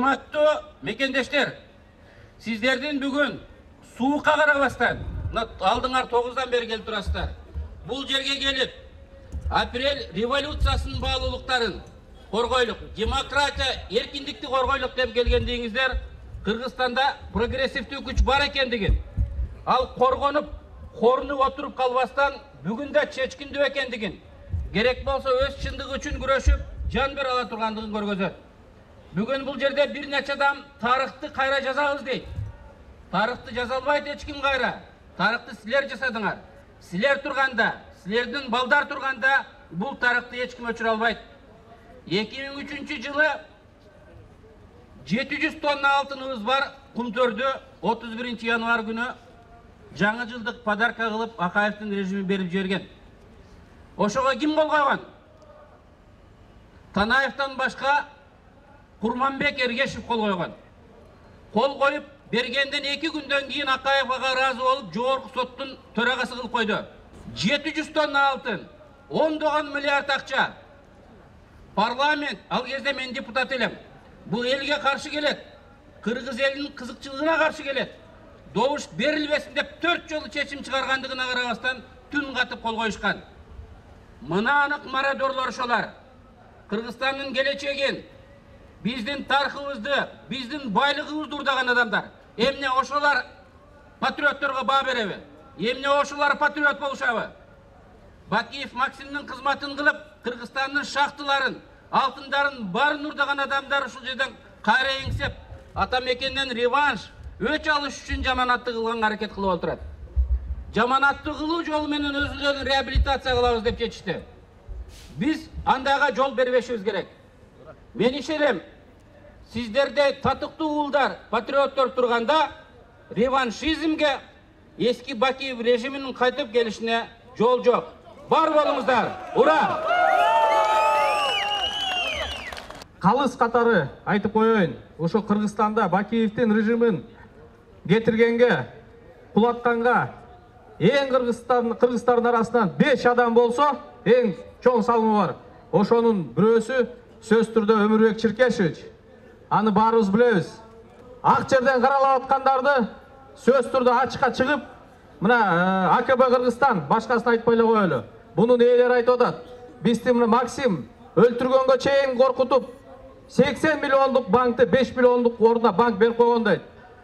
Урматтуу мекендештер, сиздердин бүгүн суукка карабастан, алдыңар 9-дан бери келип турасыздар. Бул жерге келип, апрель революциясынын баалуулуктарын коргойлук, демократия, эркиндикти коргойлук деп келгендигиңиздер, Кыргызстанда прогрессивдүү күч бар экендигин, ал коргонуп, корунуп отуруп калбастан бүгүн да чечкиндүү экендигин, керек болсо өз чындыгы үчүн күрөшүп, жан бере ала тургандыгын көргөзөт. Бүгүн бул жерде бир нече адам тарыхты кайра жазабыз дейт. Тарыхты жаза албайт эч ким кайра. Тарыхты силер жасадыңар. Силер турганда, силердин балдар турганда бул тарыхты эч ким өчүрө албайт. 2003 жылы 700 тонна алтыныбыз бар Кумтөрдү 31 январь күнү жаңы жылдык подарка кылып Акаевдин режими берип жиберген. Ошого ким кол койгон? Танаевден башка Курманбек Эргешев кол койгон. Кол коюп бергенден 2 күндөн кийин Акаев ага ыраазы болуп, жогорку соттун төрагасы кылып койду. 700 тонна алтын, 10 миллиард акча. Парламент, ал кезде мен депутат элем. Бул элге каршы келет. Кыргыз элинин кызыкчылыгына каршы келет. Добуш берилбесин деп 4 жолу чечим чыгаргандыгына карабастан түн катып кол коюшкан. Мына анык мародерлор ошолар. Кыргызстандын келечегин, биздин тарыхыбызды, биздин байлыгыбызды урдаган адамдар. Эмне ошолар патриотторго баа береби? Эмне ошолар патриот болушабы? Бакиев Максимдин кызматын кылып, Кыргызстандын шахталарын, алтындарын барын урдаган адамдар ушул жерден кайра эңсеп, ата мекенден реванш, өч алыш үчүн жаманатты кылганга аракет кылып отурат. Жаманатты кылуу жолу менен өзүлөрүн реабилитация кылабыз деп чечишти. Биз андайга жол бербешибиз керек. Мен ишенем, сиздерде татыктуу уулдар, патриоттор турганда реваншизмге, эски Бакиев режиминин кайтып келишине жол жок. Бар болуңуздар. Ура! Калыс катары айтып коеюн. Ошо Кыргызстанда Бакиевдин режимин кетиргенге, кулатканга эң кыргыздардын арасынан 5 адам болсо, эң чоң салымы бар. Ошонун бирөөсү сөз түрдө Өмүрбек Чиркешевич. Аны баарыбыз билебиз. Ак жерден каралап аткандарды сөз түрдө ачыкка чыгып, мына АКБ Кыргызстан башкасын айтпай эле коелу. Бунун ээлери айтып атат. Бизди мына Максим өлтүргөнгө чейин коркутуп, 80 миллиондук банкты 5 миллиондук ордуна банк берип койгон дейт.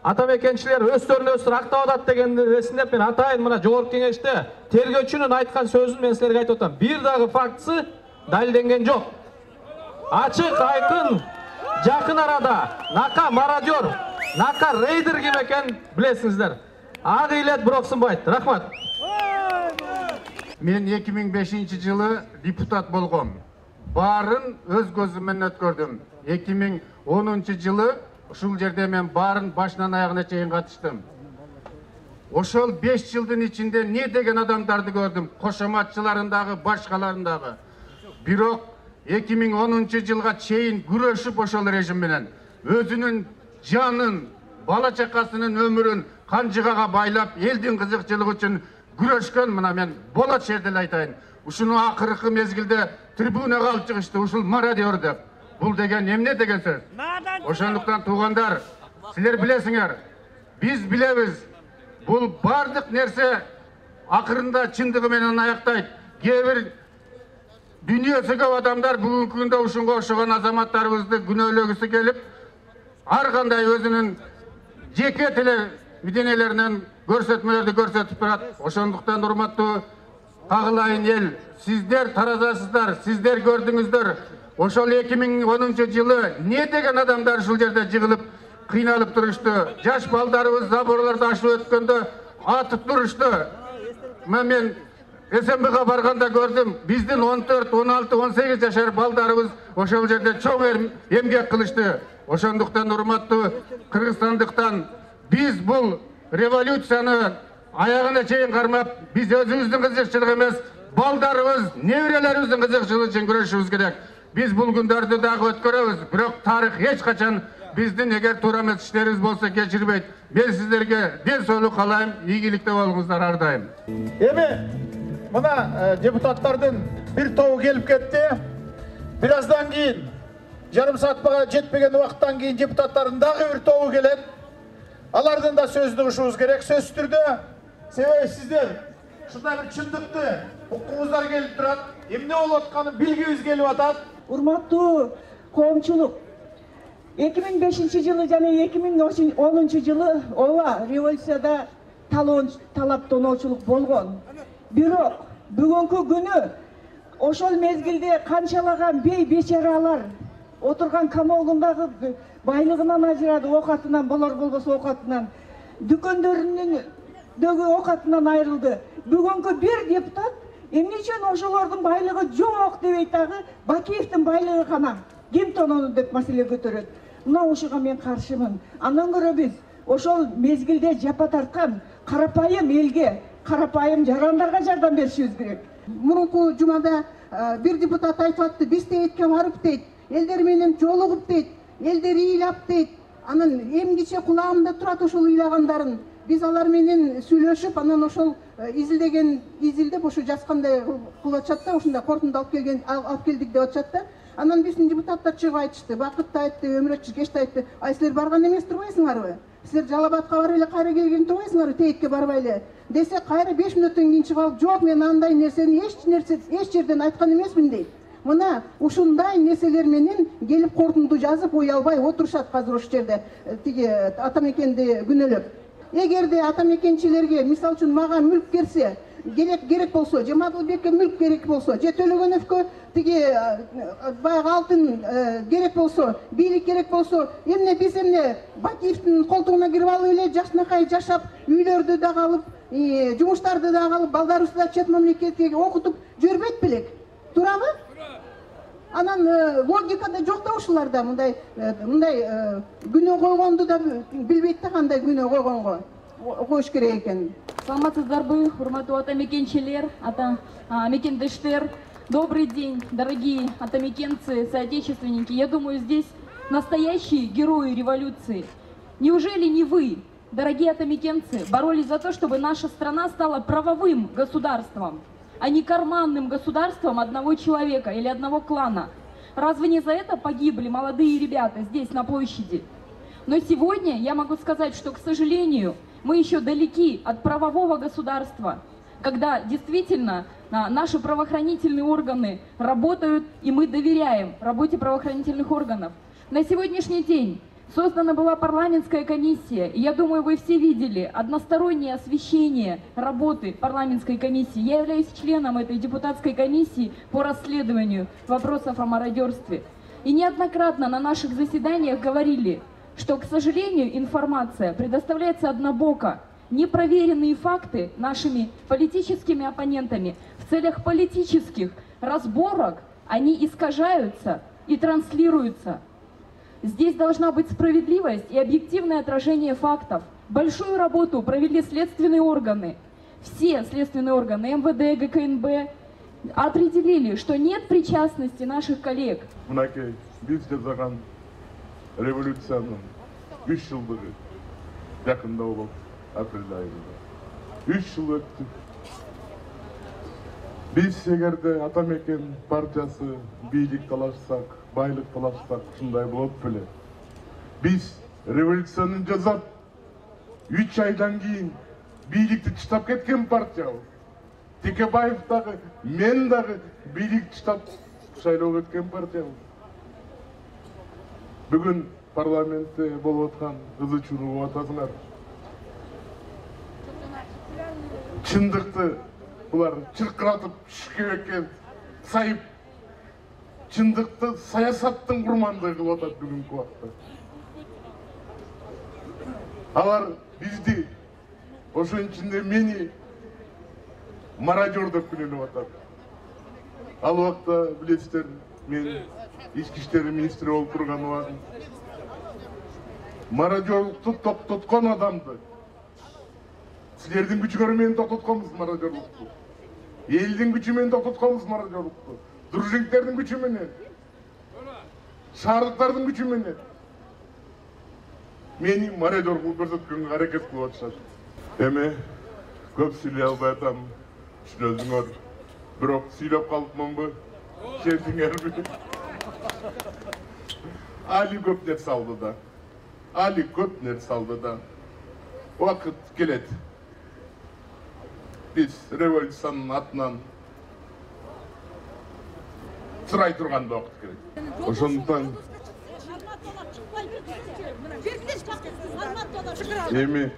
Ата мекенчилер өздөрүнө өздөрү актап атат деген эсиндеп мен атайын мына жогорку кеңеште тергөөчүнүн айткан сөзүн мен силерге айтып атам. Бир дагы фактысы далилденген жок. Ачык, айкын, жакын арада нака мародер, нака рейдер ким экенин билесиңиздер. Ак илет бирок сынбайт. Рахмат. Мен 2005 жылы депутат болгом. Барын өз көзүм менен өткөрдүм. 2010 жылы ушул жерде мен барын башынан аягына чейин катыштым. Ошол 5 жылдын ичинде не деген адамдарды көрдүм, кошоматчыларын дагы, башкаларын дагы. Бирок 2010 жылга чейин күрөшүп ошол режим менен өзүнүн жанын, бала чакасынын өмүрүн канжыгага байлап, элдин кызыкчылыгы үчүн күрөшкөн мына мен болот жерде эле айтайын. Ушуну акыркы мезгилде трибунага алып чыгышты, ушул мародер деп. Бул деген эмне деген сөз? Ошондуктан туугандар, силер билесиңер, биз билебиз. Бул бардык нерсе акырында чындыгы менен аяктайт. Кээ бир дүйнөсү көп адамдар бүгүнкү күндө ушунга окшогон азаматтарыбызды күнөөлөгүсү келип, ар кандай өзүнүн жеке телевидениелеринен көрсөтмөлөрдү көрсөтүп турат. Ошондуктан урматтуу кагылайын эл, сиздер таразасыздар, сиздер көрдүңүздөр. Ошол 2010 жылы не деген адамдар ушул жерде жыгылып, кыйналып турушту. Жаш балдарыбыз заборлорду ашып өткөндө атып турушту. Мен СМБга барганда көрдүм, биздин 14, 16, 18 жашар балдарыбыз ошол жерде чоң эмгек кылышты. Ошондуктан урматтуу кыргызстандыктан биз бул революцияны аягына чейин кармап, биз өзүбүздүн кызыкчылык эмес, балдарыбыз, неберелерибиздин кызыкчылыгы үчүн күрөшүбүз керек. Биз бул күндөрдү дагы өткөрөбүз, бирок тарых эч качан биздин эгер туура эмес иштерибиз болсо кечирбейт. Мен сиздерге ден соолук каалайм, ийгиликте болуңуздар ар дайым. Эми мына депутаттардын бир тобу келип кетти. Бираздан кийин жарым саатка жетпеген убакыттан кийин депутаттардын дагы бир тобу келет. Алардын да сөзүн угушубуз керек. Сөзсүз түрдө себеби сиздер ушундай бир чындыкты укуңуздар келип турат. Эмне болуп атканын билгибиз келип атат. Урматтуу коомчулук, 2005 жылы жана 2010 жылы ооба революцияда талаптоочулук болгон. Бирок бүгүнкү күнү ошол мезгилде канчалаган бей бечаралар отурган камолундагы байлыгынан ажырады, оокатынан, болор болбосо оокатынан, дүкөндөрүнүндөгү оокатынан айрылды. Бүгүнкү бир депутат эмне үчүн ошолордун байлыгы жок дебей дагы Бакиевдин байлыгы гана ким тонону деп маселе көтөрөт. Мына ушуга мен каршымын. Андан көрө биз ошол мезгилде жапа тарткан карапайым элге, карапайым жарандарга жардам беришибиз керек. Мурунку жумада бир депутат айтып атты, биз тегетке барып дейт, элдер менен жолугуп дейт, элдер ыйлап дейт. Анан эмгиче кулагымда турат ошол ыйлагандарын. Биз алар менен сүйлөшүп, анан ошол изилдеп ошо жазгандай кылып атышат да, ушундай корутунду алып келдик деп атышат да. Анан биздин депутаттар чыгып айтышты, Бакыт да айтты, Өмүрөт Чиркеш да айтты. Ай силер барган эмес турбайсыңарбы? Силер Жалал Абадка барып эле кайра келген турбайсыңарбы? Тегетке барбай эле. Десе кайра 5 мүнөттөн кийин чыгып алып, жок мен андай нерсени эч жерден айткан эмесмин дейт. Мына ушундай нерселер менен келип корутунду жазып уялбай отурушат азыр ошол жерде тиги атамекенди күнөөлөп. Эгерде атамекенчилерге, мисалы үчүн мага мүлк керсе, керек болсо, же Мадылбекке мүлк керек болсо, же Төлөгөновкө тиги баягы алтын керек болсо, бийлик керек болсо, эмне биз эмне Бакиевдин колтугуна кирип алып эле жакшынакай жашап, үйлөрдү да алып, жумуштарды да алып, балдарыбызды да чет мамлекетке окутуп жүрбөйт белек? Туурабы? Анан логикада жок да ушуларда мындай күнөө койгонду да билбейт да кандай күнөө койгонго коюш керек экенин. Саламатсыздарбы, урматтуу атамекенчилер, мекендештер. Добрый день, дорогие атамекенцы, соотечественники. Я думаю, здесь настоящие герои революции. Неужели не вы, дорогие атамекенцы, боролись за то, чтобы наша страна стала правовым государством, а не карманным государством одного человека или одного клана? Разве не за это погибли молодые ребята здесь, на площади? Но сегодня я могу сказать, что, к сожалению, мы еще далеки от правового государства, когда действительно наши правоохранительные органы работают, и мы доверяем работе правоохранительных органов. На сегодняшний день создана была парламентская комиссия, и я думаю, вы все видели одностороннее освещение работы парламентской комиссии. Я являюсь членом этой депутатской комиссии по расследованию вопросов о мародерстве. И неоднократно на наших заседаниях говорили, что, к сожалению, информация предоставляется однобоко. Непроверенные факты нашими политическими оппонентами в целях политических разборок, они искажаются и транслируются. Здесь должна быть справедливость и объективное отражение фактов. Большую работу провели следственные органы. Все следственные органы, МВД, ГКНБ, определили, что нет причастности наших коллег. Революциянын 3 жылдыгы жакында болуп апрель айында. 3 жыл өттү. Биз эгерде Атамекен партиясы бийлик талашсак, байлык талашсак, ушундай болот беле. Биз революцияны жасап, 3 айдан кийин бийликти таштап кеткен партиябыз. Текебаев дагы, мен дагы бийликти таштап шайлоого кеткен партиябыз. Бүгүн парламентте болуп аткан кызычууну угуп атасыңар. Чындыкты булар чыркыратып шүкебекке сайып, чындыкты саясаттын курмандыгы кылып атат бүгүнкү убакта. Алар бизди, ошонун ичинде мени мародер деп күнөөлөп атат. Ал убакта билесиздер, мен ички иштер министри болуп турган убагым мародерлукту токтоткон адамды, силердин күчүңөр менен токтотконбуз мародерлукту, элдин күчү менен токтотконбуз мародерлукту, дружинниктердин күчү менен, шаардыктардын күчү менен мени мародер кылып көрсөткөнгө аракет кылып атышат. Эми көп сүйлөй албай атам, түшүнөсүңөр, бирок сүйлөп калыпмынбы, шертиңерби? Али көп нерсе алды да. Али көп нерсе алды да. Убакыт келет. Биз революциянын атынан сырай турган убакыт келет. Ошондуктан эми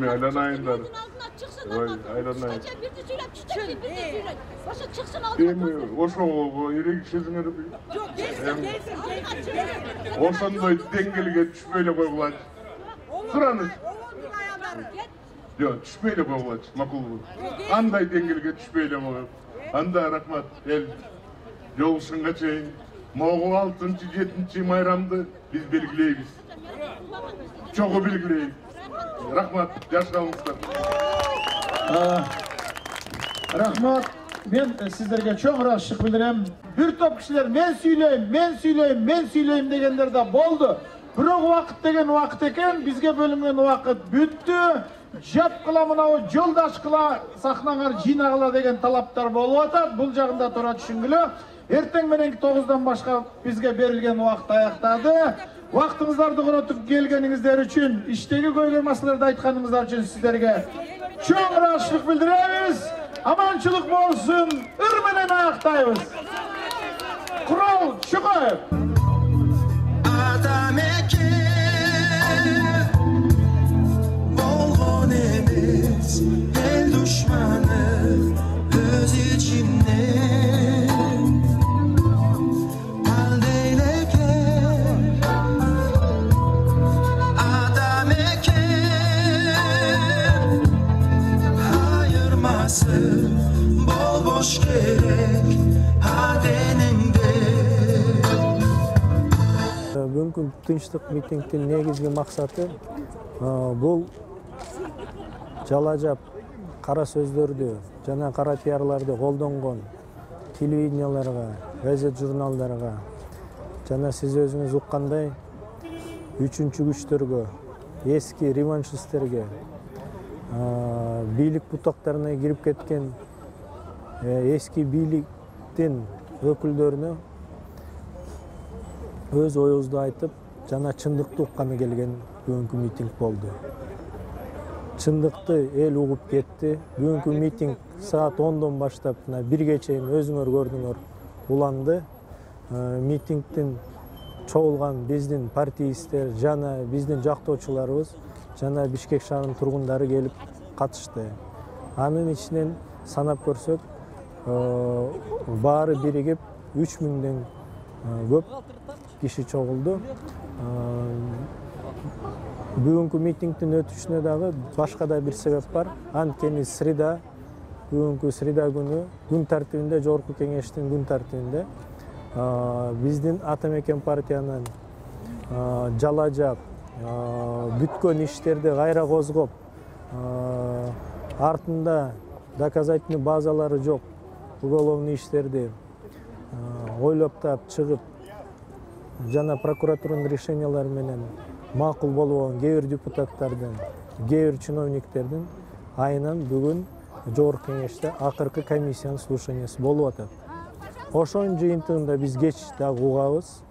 айланайындар. Айланайын. Эми ошого эрегишесиңерби? Ошондой деңгээлге түшпөй эле койгулачы. Тураныч. Жок, түшпөй эле койгулачы, макулбу? Андай деңгээлге түшпөй эле коюп. Анда рахмат эл жолугушканга чейин могул 6-7 майрамды биз белгилейбиз. Чогуу белгилейбиз. Рахмат, жаш калыңыздар. Рахмат. Мен сиздерге чоң ыраазычылык билдирем. Бир топ кишилер мен сүйлөйм дегендер да болду. Бирок убакыт деген убакыт экен, бизге бөлүнгөн убакыт бүттү. Жапкыла мынау жолдашкыла сахнаңар жыйнагыла деген талаптар болуп атат. Бул жагында туура түшүнгүлө. Эртең мененки 9-дан башка бизге берилген убакыт аяктады. Вактыңыздарды коротуп келгениңиздер үчүн, иштеги көйгөй маселелерди айтканыңыздар үчүн сиздерге чоң ыраазычылык билдиребиз. Аманчылык болсун. Ыр менен аяктайбыз. Курал Чукаев. Адам экен болгон эмес, эл душманы өз ичинен. Адам экен айырмасы болбош керек аденеңде. Бүгүнкү тынчтык митингдин негизги максаты бул жалажап кара сөздөрдү жана кара пиарларды колдонгон телевиденияларга, газет журналдарга жана сиз өзүңүз уккандай үчүнчү күчтөргө, эски реваншисттерге, бийлик бутактарына кирип кеткен эски бийликтин өкүлдөрүнө өз оюбузду айтып жана чындыкты укканы келген бүгүнкү митинг болду. Чындыкты эл угуп кетти. Бүгүнкү митинг саат 10-дон баштап 1-ге чейин өзүңөр көрдүңөр уланды. Митингдин чогулган биздин партиисттер жана биздин жактоочуларыбыз жана Бишкек шаарынын тургундары келип катышты. Анын ичинен санап көрсөк, баары биригип 3000ден көп киши чогулду. Бүгүнкү митингдин өтүшүнө дагы башка да бир себеп бар. Анткени среда, бүгүнкү среда күнү күн тартибинде, жогорку кеңештин күн тартибинде биздин Ата Мекен партиянын жалажап, бүткөн иштерди кайра козгоп, артында доказательный базалары жок уголовный иштерди ойлоп таап чыгып жана прокуратуранын решениялары менен макул болбогон кээ бир депутаттардын, кээ бир чиновниктердин айынан бүгүн жогорку кеңеште акыркы комиссиянын слушаниясы болуп атат. Ошонун жыйынтыгында биз кеч дагы угабыз.